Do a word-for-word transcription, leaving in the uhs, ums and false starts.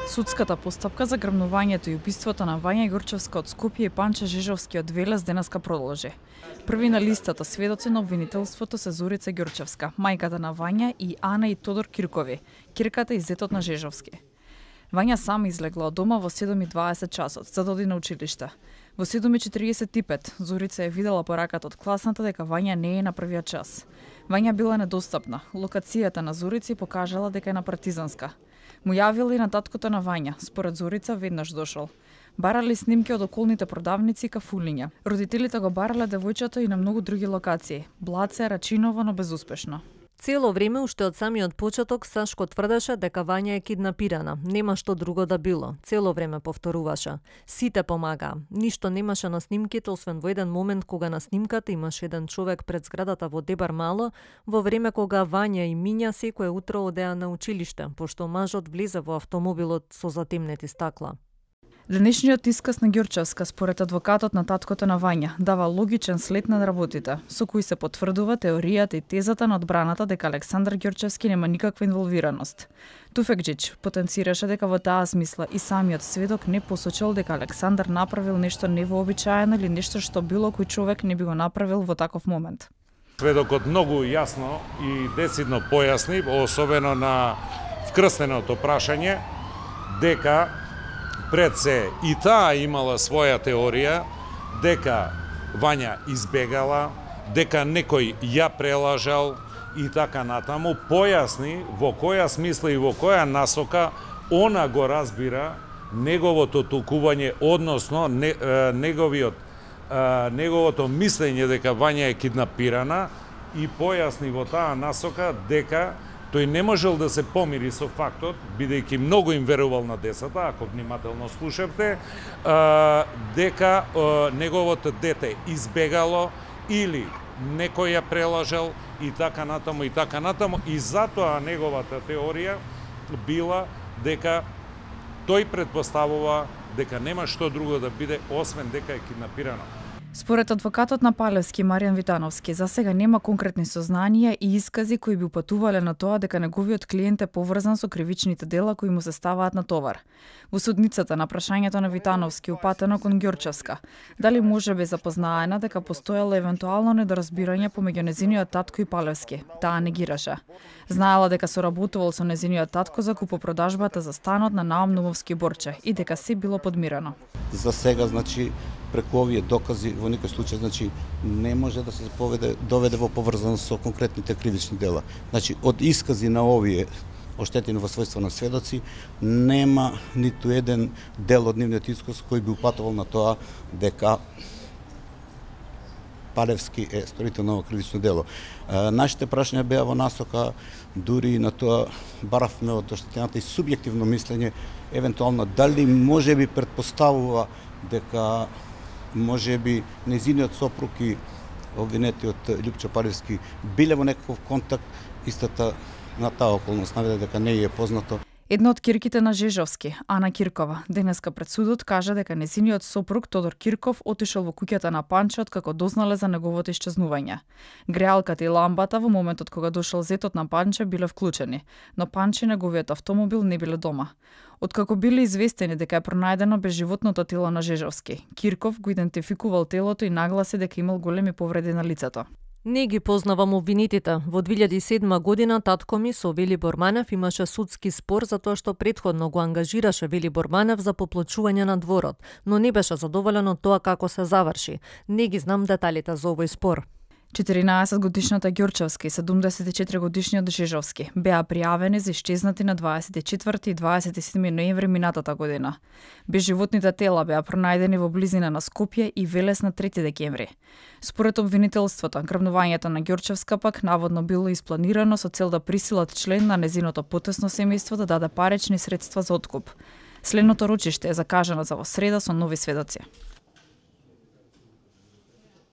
Судската постапка за грабнувањето и убиството на Вања Ѓурчевска од Скопје и Панче Жежовски од Велес денеска продолжи. Први на листата сведоци на обвинителството се Зорица Ѓурчевска, мајката на Вања, и Ана и Тодор Киркови, кирката и зетот на Жежовски. Вања сам излегла од дома во седум и дваесет часот за да оди на училиште. Во седум и четириесет и пет Зорица е видела пораката од класната дека Вања не е на првиот час. Вања била недостапна. Локацијата на Зорици покажала дека е на Партизанска. Му јавила и на таткото на Вања, според Зорица веднаш дошол. Барали снимки од околните продавници и кафулиња. Родителите го барале девојчето и на многу други локации. Блаце, Рачиново, но безуспешно. Цело време, уште од самиот почеток, Сашко тврдеше дека Вања е киднапирана. Нема што друго да било. Цело време повторуваше. Сите помагаа. Ништо немаше на снимките, освен во еден момент кога на снимката имаше еден човек пред зградата во Дебар Мало, во време кога Вања и Миња секое утро одеа на училиште, пошто мажот влезе во автомобилот со затемнети стакла. Денешниот исказ на Ѓурчевска, според адвокатот на таткото на Вања, дава логичен след на работите, со кои се потврдува теоријата и тезата на одбраната дека Александар Ѓурчевски нема никаква инволвираност. Туфекџич потенцираше дека во таа смисла и самиот сведок не посочил дека Александар направил нешто невообичаено или нешто што било кој човек не би го направил во таков момент. Сведокот многу јасно и децидно појасни, особено на вкрстеното прашање, дека пред се и таа имала своја теорија дека Вања избегала, дека некој ја прелажал и така натаму, појасни во која смисла и во која насока она го разбира неговото толкување, односно не, е, неговиот е, неговото мислење дека Вања е киднапирана, и појасни во таа насока дека тој не можел да се помири со фактот, бидејќи многу им верувал на децата, ако внимателно слушавте, дека неговото дете избегало или некој ја прелажал и така натаму и така натаму, и затоа неговата теорија била дека тој предпоставува дека нема што друго да биде освен дека е киднапирано. Според адвокатот на Палевски Маријан Витановски, за сега нема конкретни сознанија и искази кои би упатувале на тоа дека неговиот клиент е поврзан со кривичните дела кои му се ставаат на товар. Во судницата на прашањето на Витановски упатено кон Ѓурчевска, дали може би запознаена дека постоело евентуално недоразбирање помеѓу незиниот татко и Палевски, таа негираше. Знаела дека соработувал со незиниот татко за купопродажбата за станот на Наум Нумовски Борче и дека се било подмирено. За сега, значи, преку овие докази во никој случај, значи, не може да се поведе, доведе во поврзаност со конкретните кривични дела. Значи, од искази на овие оштетени во својство на сведоци, нема ниту еден дел од нивниот исказ кој би упатувал на тоа дека Палевски е сторител на ово кривично дело. Нашите прашања беа во насока, дури на тоа баравме од оштетената и субјективно мислење, евентуално дали може би предпоставува дека може би незиниот сопруг и обвинетиот Љупчо Палевски биле во некаков контакт, истата на таа околност наведе дека не е познато. Една од кирките на Жежовски, Ана Киркова, денеска пред судот кажа дека незиниот сопруг Тодор Кирков отишел во куќата на Панче откако дознале за неговото исчезнување. Греалката и ламбата во моментот кога дошол зетот на Панче биле вклучени, но Панче и неговиот автомобил не биле дома. Откако биле известени дека е пронајдено безживотното тело на Жежовски, Кирков го идентификувал телото и нагласи дека имал големи повреди на лицето. Не ги познавам обвинетите. Во две илјади и седма година татко ми со Велибор Манев имаше судски спор за тоа што претходно го ангажираше Велибор Манев за поплочување на дворот, но не беше задоволен од тоа како се заврши. Не ги знам деталите за овој спор. четиринаесет годишната Ѓурчевска и седумдесет и четири годишниот Жежовски беа пријавени за исчезнати на дваесет и четврти и дваесет и седми ноември минатата година. Безживотните тела беа пронајдени во близина на Скопје и Велес на трети декември. Според обвинителството, грабнувањето на Ѓурчевска пак наводно било испланирано со цел да присилат член на незиното потесно семејство да даде парични средства за откуп. Следното рочиште е закажано за во среда со нови сведоци.